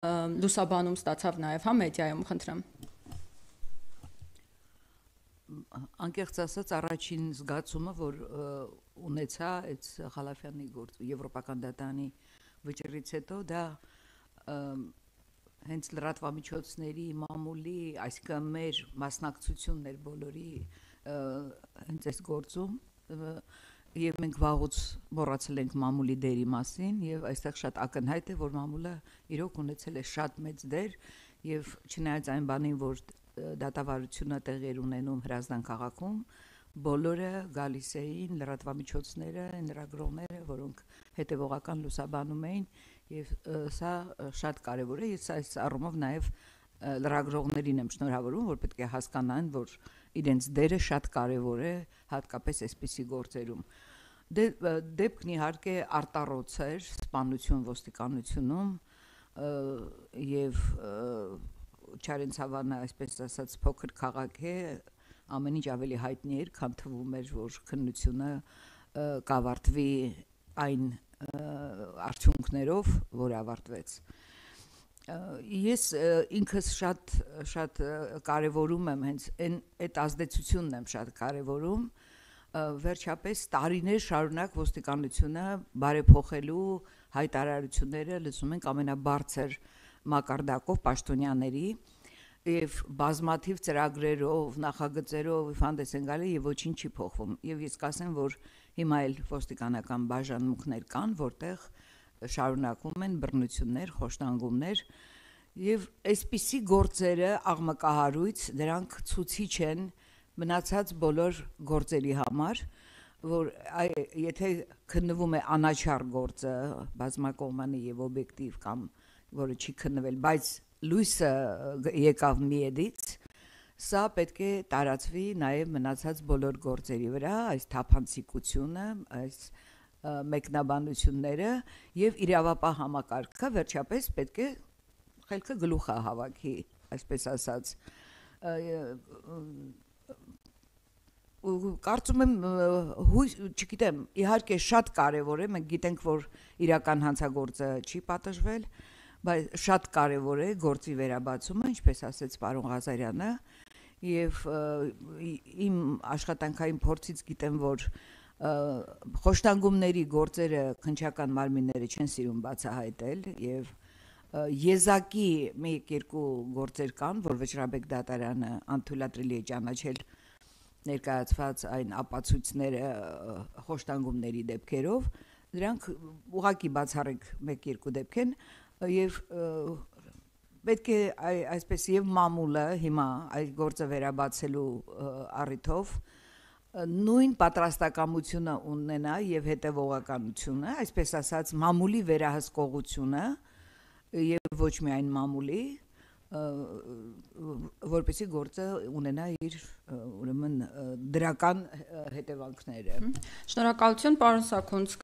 լուսաբանում ստացավ նաև, հա, մեդիայում, խնդրեմ։ Անկեղծ ասած, առաջին զգացումը, որ ունեցա այդ Խալափյանի Եվրոպական դատարանի վճռից հետո, դա հենց լրատվամիջոցների մամուլի, այսինքն մեր մասնակցությունն էր բոլորի հենց այս գործում, եւ մենք վաղուց մոռացել ենք մամուլի դերի մասին, եւ այստեղ շատ ակնհայտ է, որ մամուլը իրոք ունեցել է շատ մեծ դեր, եւ չնայած այն բանին, որ դատավարությունը տեղի էր ունենում Հրազդան քաղաքում, բոլորը գալիս էին, լրատվամիջոցները, լրագրողները, որոնք հետևողական լուսաբանում էին, եւ սա շատ կարեւոր է, եւ այս առումով նաեւ լրագրողներին եմ շնորհավորում, որ պետք է հասկանան, որ իրենց դերը շատ կարեւոր է, հատկապես այսպիսի գործերում։ Դեպքն իհարկե արտառոց էր սպանություն ոստիկանությունում եւ Չարենցավանը, այսպես ասած, փոքր քաղաք է, ամեն ինչ ավելի հայտնի էր, քան թվում էր, որ քննությունը կավարտվի այն արդյունքներով, որ ավարտվեց։ Ես ինքս շատ կարևորում եմ հենց այդ ազդեցությունն եմ շատ կարևորում, վերջապես տարիներ շարունակ ոստիկանությունը բարեփոխելու հայտարարությունները լսում ենք ամենաբարձր մակարդակով պաշտոնյաների եւ բազմաթիվ ծրագրերով, նախագծերով հանդես են գալի եւ ոչինչ չի փոխվում։ Եվ ես կասեմ, որ հիմա էլ ոստիկանական բաժանմունքներ կան, որտեղ շարունակվում են բռնություններ, խոշտանգումներ եւ այսպիսի գործերը աղմկահարույց, դրանք ցուցիչ են մնացած բոլոր գործերի համար, որ եթե քննվում է անաչառ գործը, բազմակողմանի եւ օբյեկտիվ կամ որը չի քննվել, բայց լույսը եկավ միედից, սա պետք է տարածվի նաև մնացած բոլոր գործերի վրա, այս թափանցիկությունը, այս մեկնաբանությունները եւ իրավապահ համակարգը վերջապես պետք է խելքը գլուխը հավաքի, այսպես ասած։ Կարծում եմ, չգիտեմ, իհարկե շատ կարևոր է, մենք գիտենք, որ իրական հանցագործը չի պատժվել, բայց շատ կարևոր է գործի վերաբացումը, ինչպես ասեց պարոն Ղազարյանը, եւ իմ աշխատանքային փորձից գիտեմ, որ խոշտանգումների գործերը քննչական մարմինները չեն սիրում բացահայտել եւ եզակի մեկ-երկու գործեր կան, որ Վճռաբեկ դատարանը անթույլատրելի է ճանաչել ներկայացված այն ապացույցները խոշտանգումների դեպքերով, դրանք ուղղակի բացառիկ մեկ-երկու դեպք են եւ պետք է այսպես եւ մամուլը հիմա այդ գործը վերաբացելու առիթով նույն պատրաստակամությունը ունենա եւ հետեւողականությունը, այսպես ասած մամուլի վերահսկողությունը եւ ոչ միայն մամուլի, որպեսզի գործը ունենա իր ուրեմն դրական հետևանքները։ Շնորհակալություն, պարոն Սաքունց։